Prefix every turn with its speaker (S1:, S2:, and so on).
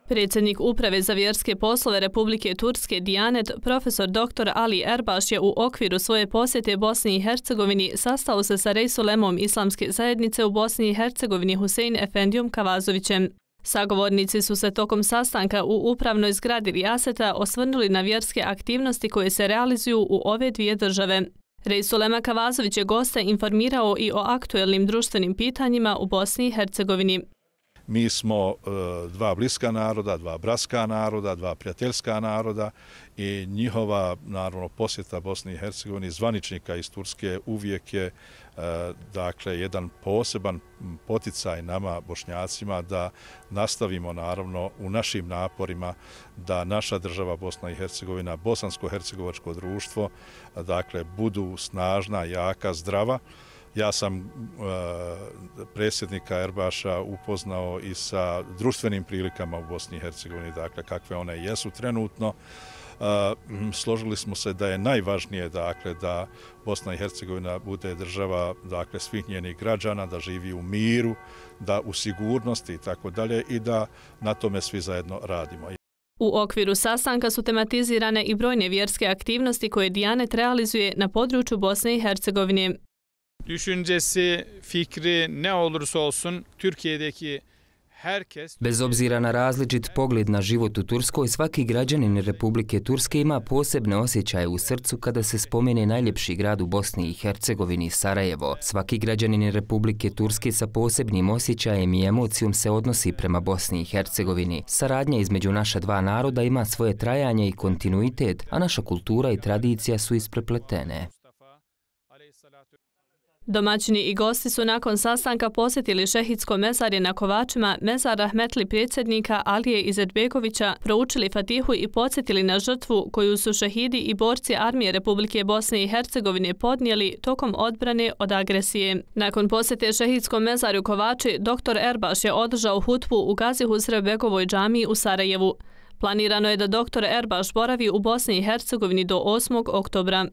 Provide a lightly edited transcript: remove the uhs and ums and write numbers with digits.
S1: Predsjednik Uprave za vjerske poslove Republike Turske Dijanet, profesor dr. Ali Erbaš je u okviru svoje posjete Bosni i Hercegovini sastao se sa rejsulemom Islamske zajednice u Bosni i Hercegovini Husein Efendijom Kavazovićem. Sagovornici su se tokom sastanka u upravnoj zgradi Rijaseta osvrnuli na vjerske aktivnosti koje se realizuju u ove dvije države. Rejsulema Kavazović je goste informirao i o aktuelnim društvenim pitanjima u Bosni i Hercegovini.
S2: Mi smo dva bliska naroda, dva bratska naroda, dva prijateljska naroda i njihova, naravno, posjeta Bosni i Hercegovini zvaničnika iz Turske uvijek je dakle jedan poseban poticaj nama Bošnjacima da nastavimo, naravno, u našim naporima da naša država Bosna i Hercegovina, bosansko-hercegovačko društvo, dakle, budu snažna, jaka, zdrava. Ja sam predsjednika Erbaša upoznao i sa društvenim prilikama u Bosni i Hercegovini, dakle kakve one jesu trenutno. Složili smo se da je najvažnije, dakle, da Bosna i Hercegovina bude država, dakle, svih njenih građana, da živi u miru, da u sigurnosti i tako dalje i da na tome svi zajedno radimo.
S1: U okviru sastanka su tematizirane i brojne vjerske aktivnosti koje Dijanet realizuje na području Bosne i Hercegovine.
S3: Düşüncesi, fikri ne olursa olsun Türkiye'deki herkes...
S4: Bez obzira na različit pogled na život u Turskoj, svaki građanin Republike Turske ima posebne osjećaje u srcu kada se spomene najljepši grad u Bosni i Hercegovini, Sarajevo. Svaki građanin Republike Turske sa posebnim osjećajem i emocijom se odnosi prema Bosni i Hercegovini. Saradnja između naša dva naroda ima svoje trajanje i kontinuitet, a naša kultura i tradicija su isprepletene.
S1: Domaćini i gosti su nakon sastanka posjetili šehidsko mezarje na Kovačima, mezar rahmetli predsjednika Alije Izetbegovića, proučili Fatihu i podsjetili na žrtvu koju su šehidi i borci armije Republike Bosne i Hercegovine podnijeli tokom odbrane od agresije. Nakon posjete šehidskom mezarju Kovači, dr. Erbaš je održao hutbu u Gazi Husrevbegovoj džamiji u Sarajevu. Planirano je da dr. Erbaš boravi u Bosni i Hercegovini do 8. oktobra.